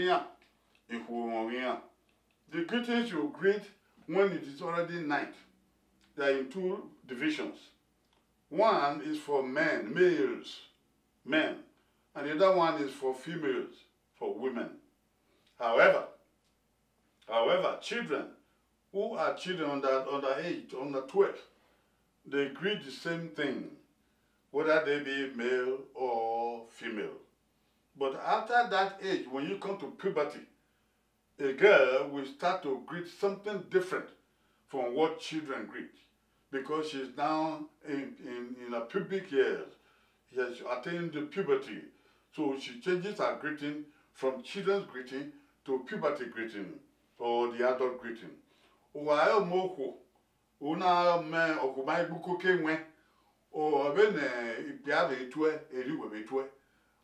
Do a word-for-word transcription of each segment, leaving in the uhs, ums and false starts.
iran, ikhuo mwẹ ọghe iran. The greetings you greet when it is already night, they are in two divisions. One is for men, males, men, and the other one is for females, for women. However, however, children who are children under, under age, under twelve, they greet the same thing, whether they be male or female. But after that age, when you come to puberty, a girl will start to greet something different from what children greet, because she's now in, in, in her pubic years. She has attained the puberty. So she changes her greeting from children's greeting to puberty greeting or the adult greeting. Uwa ẹ ọmọ okhuo, u na mẹ ọkhuo ma gbe ukoko ẹwẹn, ọ vbene ikpia vbe tuẹ, erriọ uwẹ vbe tuẹ.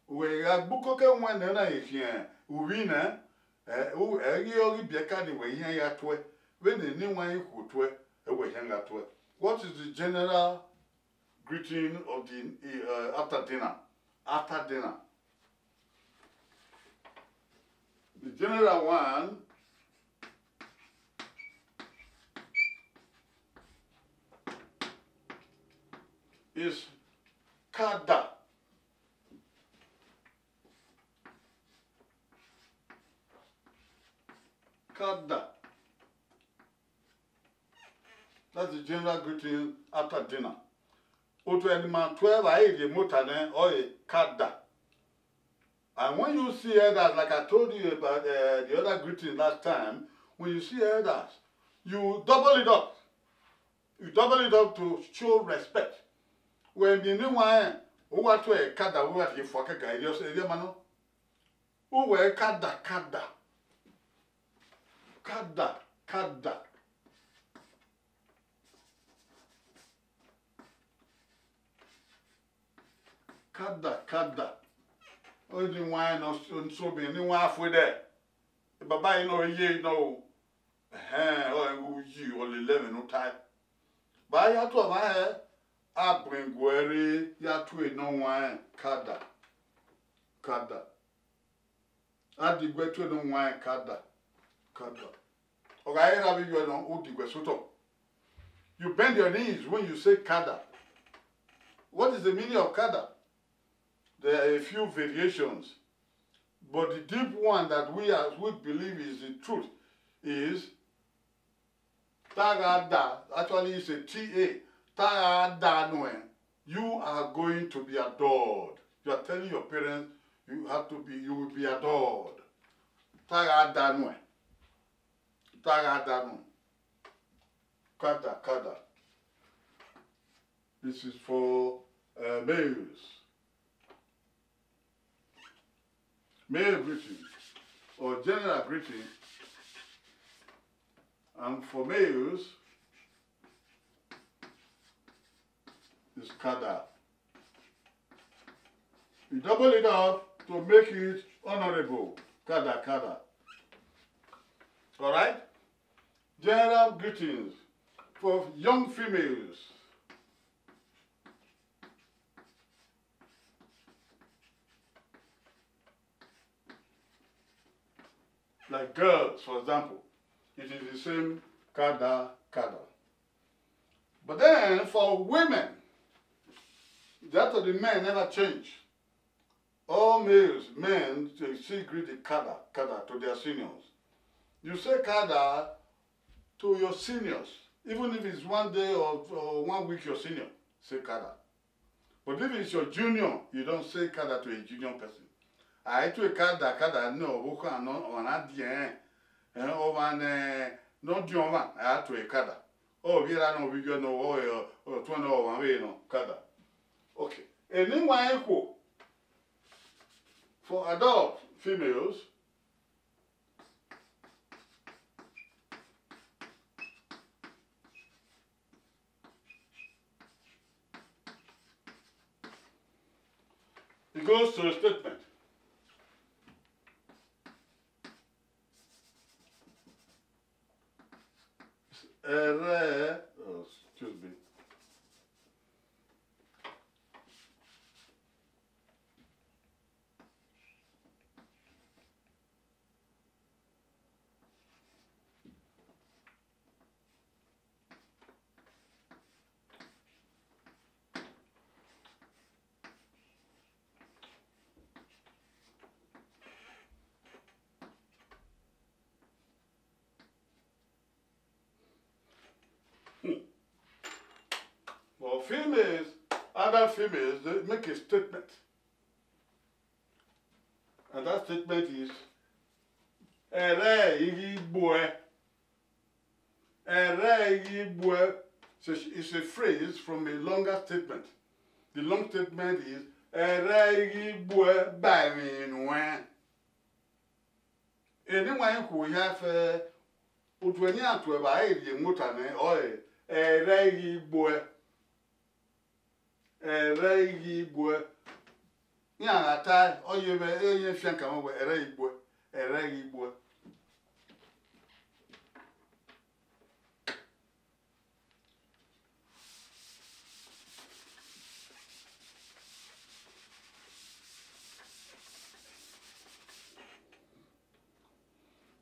Uwẹ gha gbe ukoko ẹwẹn nẹ, ọ na ghi khian uvbi nẹ, ẹ, u, ẹ ghi ọ ghi biẹ ka ne uwẹ hia ya tuẹ, vbene eni wan ikhuo tuẹ, ẹ wẹ hia gha tuẹ. What is the general greeting of the, uh, after dinner? After dinner. The general one is kada. Kada. That's the general greeting after dinner. Otu ẹdima tuẹ vbe a rhie mota nẹ, ọ re kada. And when you see elders, like I told you about, uh, the other greeting last time, when you see elders, you double it up. You double it up to show respect. Wẹ miẹn eni wan rẹn, u wa tuẹ kada, u wa rhie fua kẹkan, erriọ, erriọ ma nọ. Uwẹ kada, kada. Kada, kada. Kada, kada. Ọ ni wan nọ so, so be ni wan fue dẹ. Baba yi nọ ye nọ o. Ẹhẹn, ọ ru yi, ọ lele ẹmwẹ ne u tae. Ba ya tu ọmwa hẹ, a bun ẹguẹ rre ya tu enọ wan kada. Kada. A diguẹ tuẹ ne u wan kada, kada. Ọ gha re erha vbe iyuẹ nọ, u diguẹ sotọ. You bend your knees when you say kada. What is the meaning of kada? There are a few variations, but the deep one that we, as we believe, is the truth is ta gha da, actually it's a T A, ta gha da nuẹn, you are going to be adored. You are telling your parents you have to be, you will be adored. Ta gha da nuẹn. Ta gha da nuẹn. Kada, kada. This is for, uh, males. Male greeting or general greeting, and for males, is kada. You double it up to make it honorable. Kada, kada. All right? General greetings for young females. Like girls, for example, it is the same kada, kada. But then for women, that of the men never change. All males, men, they still greet the kada, kada to their seniors. You say kada to your seniors, even if it's one day or, or one week your senior, say kada. But if it's your junior, you don't say kada to a junior person. A i tue kada, kada ne ọvbokhan ne ọmwa na diẹn, eh, ọmwa ne, ne ọ diọn ọmwa, a i tue kada. Ọ vbe erha nọ, ọ vbe iyuẹ nọ, ọ, ọ, ọ tuẹn nọ, ọmwa vbe nọ, kada. Okay. Eni wan ekhuo, for adult females, it goes to a statement. Ẹrẹ, oh, excuse me. But females, other females, they make a statement. And that statement is, "Ẹrẹ i ghi gbuẹ." "Ẹrẹ i ghi gbuẹ." It's a, it's a phrase from a longer statement. The long statement is, "Ẹrẹ i ghi gbuẹ ba emwi nuẹn." Eni wa khuo ya fẹ, utuẹ ne iran tuẹ vba rrie emota nẹ, ọre, "Ẹrẹ i ghi gbuẹ." Ẹrẹ i ghi gbuẹ. Iran gha tae, ọ ye vbe, ọ ye fian kan wẹ, "Ẹrẹ i gbuẹ, ẹrẹ i ghi gbuẹ."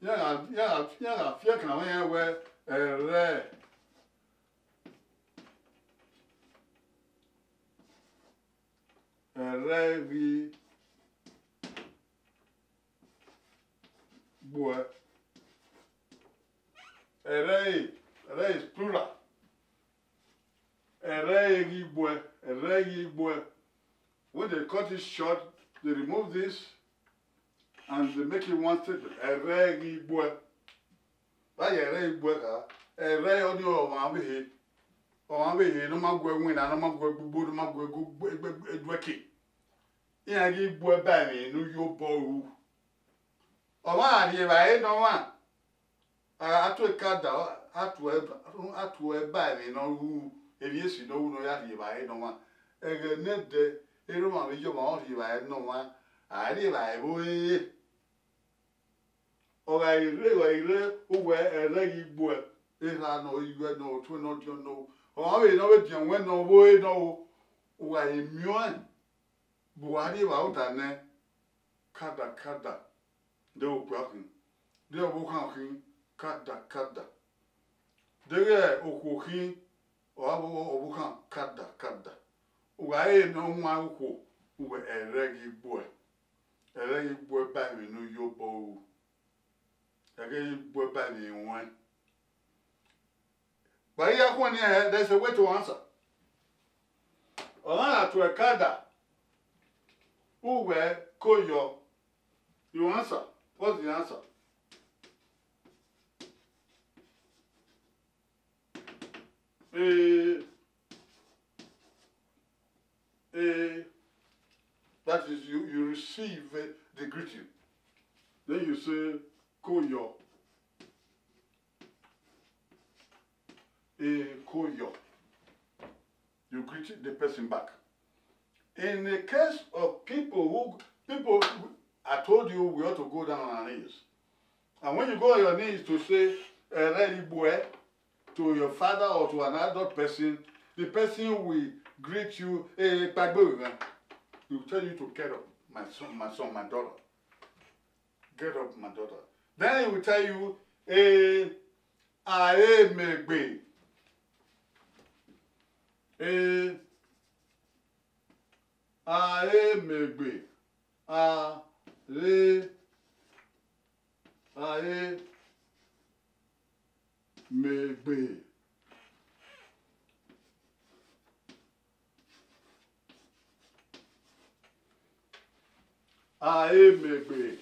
Iran gha, iran gha, iran gha fian kan wẹ, "Ẹrẹ." Ẹrẹ i ghi gbuẹ. Ẹrẹ i, ẹrẹ is plural. Ẹrẹ i ghi gbuẹ, ẹrẹ i ghi gbuẹ. When they cut it short, they remove this and they make it one statement. Ẹrẹ i ghi gbuẹ. Vbe a ya ẹrẹ i gbuẹ kha? Ẹrẹ ọnii ọmwa ọvbehe. Ọmwa ọvbehe ne ọ ma gu ẹwinna, ne ọ ma gu ẹgbugbo, ne ọ ma gu ẹgu-, ẹgbẹ-, ẹduẹke. Iran ghi gbuẹ ba emwi ne u ye obọ ru. Ọmwa gha rhie evbare ne ọmwa, a, a tue kada, a tue, a tue ba emwi ne ọ ru, emwi esi ne ọ ru ne ọ ya rhie evbare ne ọmwa. Ẹghẹ nẹdẹ, erha ọmwa vbe iye ọmwa ọ rhie evbare ne ọmwa, a rhie evbare vbe ore. Ọ gha rre, ọ gha rre, uwẹ ẹrẹ ghi gbuẹ, erha nọ, iyuẹ nọ, otuẹ nọ, ọdiọn nọ, ọmwa vbe ne ọ vbe diọn wẹ nọ, vbe ore nọ, u gha rhie miẹn ọẹn, bu uwa rhie evbare ota nẹ, kada, kada. Deghẹ okpia khin, deghẹ ọvbokhan khin, kada, kada. Deghẹ okhuo khin, ọ gha vbe ọvbokhan, kada, kada. U gha re ne ọ wan okhuo, uwẹ ẹrẹ ghi gbuẹ. Ẹrẹ ghi gbuẹ ba emwi ne u ye obọ ru. Ẹrẹ ghi gbuẹ ba emwi ruẹn. Vbe a ya khuẹnniẹn hẹ, there is a way to answer. Ọmwa na tuẹ kada, uwẹ ko yọ. You answer. What's the answer? Eh, eh, that is, you, you receive, eh, the greeting. Then you say, "Ko yọ." Eh, ko yọ. You greet the person back. In the case of people who, people, I told you we ought to go down on our knees. And when you go on your knees to say, "Ẹrẹ i gbuẹ," to your father or to an adult person, the person will greet you, "Eh, kpaegbe vbe mwẹ." He will tell you to get up, my son, my son, my daughter. Get up, my daughter. Then he will tell you, "Eh, a re mẹ egbe." Eh, a re mẹ egbe. A re, a re mẹ egbe. A re mẹ egbe.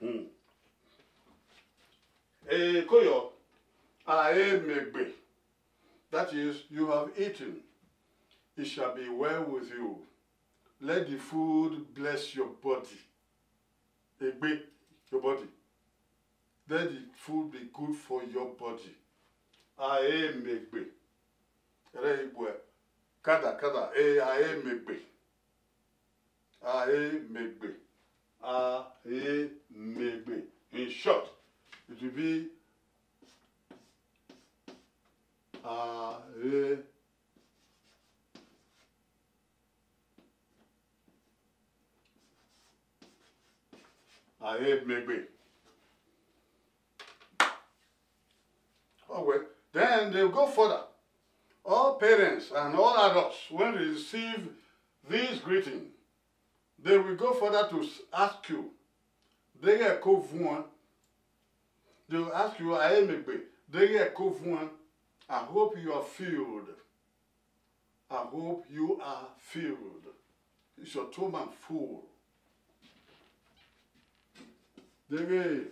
Hmm. Eh, ko yọ, a re mẹ egbe. That is, you have eaten. It shall be well with you. Let the food bless your body. Egbe, your body. Let the food be good for your body. A re mẹ egbe. Ẹrẹ i gbuẹ. Kada, kada. Eh, a re mẹ egbe. A re mẹ egbe. A re mẹ egbe. In short, it will be, a re, a re mẹ egbe. Oh, well, then they go further. All parents and all adults, when they receive This greeting, they will go further to s- ask you, deghẹ ẹko vuọn? They will ask you, a i re mẹ egbe, deghẹ ẹko vuọn? I hope you are filled. I hope you are filled. Is your stomach full? Deghẹ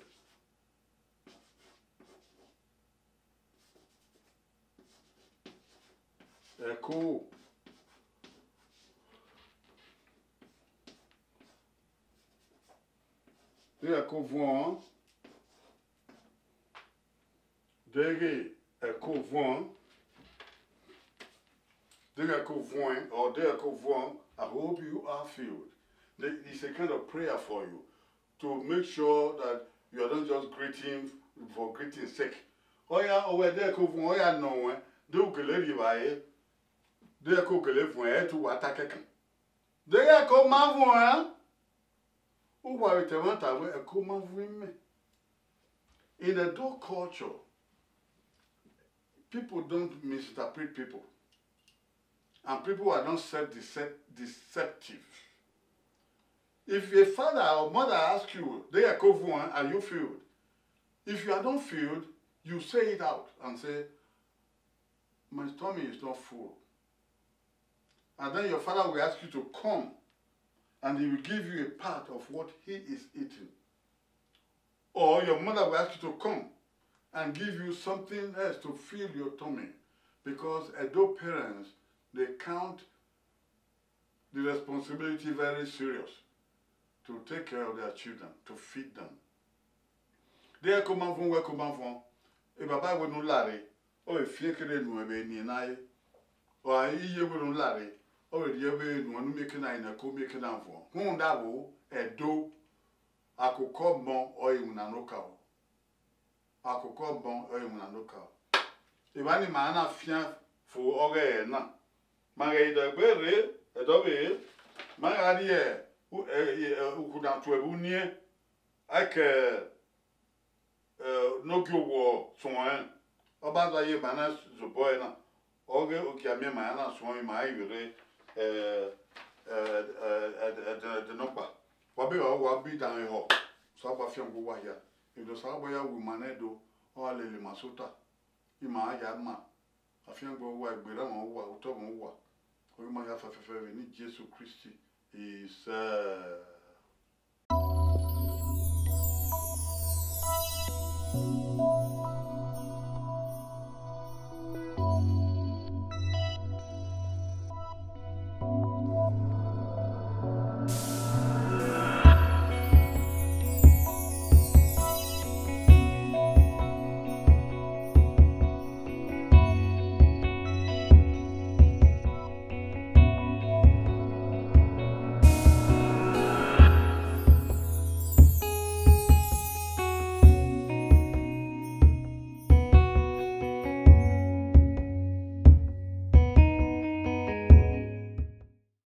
ẹko, deghẹ ẹko vuọn, deghẹ ẹko vuọn, deghẹ ẹko vuọn, or deghẹ ẹko vuọn, I hope you are filled. The- It's a kind of prayer for you to make sure that you are not just greeting for greeting sake. Ọ ya, ọ wẹ deghẹ ẹko vuọn, ọ ya nọ ruẹn, deghẹ u gele rri evbare, deghẹ ẹko gele vuọn, ẹ i te uwa ta kẹkan. Deghẹ ẹko ma vuọn, uwa vbe ta ẹmwata wẹ ẹko ma vuọn imẹ. In Edo culture, people don't misinterpret people. And people are not self-decep- deceptive. If a father or mother asks you, deghẹ ẹko vuọn, are you filled? If you are not filled, you say it out and say, my stomach is not full. And then your father will ask you to come and he will give you a part of what he is eating. Or your mother will ask you to come and give you something else to fill your tummy, because Edo parents, they count the responsibility very serious to take care of their children, to feed them. Deghẹ ẹko ma vuọn, wẹ ẹko ma vuọn, e baba wẹ ne u lare, ọ vbe fian kere nuẹn vbe eni na re. Ọ gha iye wẹ ne u lare, ọ vbe rhie vbe nuẹn ne u miẹn eke na re ne ẹko miẹn eke na vuọn. Rhunmwuda vbo, Ẹdo, akoko ọmọ ọre iwinna ne okaro. Akoko ọmọ ọre iwinna ne okaro. Evba ne ima na fian fo ọghe ẹre na. Ma ghẹ dẹ egbe rre, Ẹdo vbe, ma gha rhie u- ẹ- ẹ- ukhu na tuẹ vbe uniẹn, a i ke, ẹ, ne ogie owọ suẹn. Ọ ba zẹ ye ima na zobọ ẹre na, ọghe ogie a miẹn ima ya na suẹn, ima i vbe rre, ẹ, ẹ, ẹ, ẹ, ẹdẹ nọkpa. Wa be vba wa bi dan ehọ, Osanobua fian gbe uwa hia. Emwi ne Osanobua ya wu ima nẹ do, ọ gha lele ima sẹ ota, ima ya ma. Afiangbe uwa, egbe erha mwẹ uwa, otọ mwẹ uwa, ọ ghi ma hia fẹfẹfẹ vbe eni Jesu Kristi. Isẹ.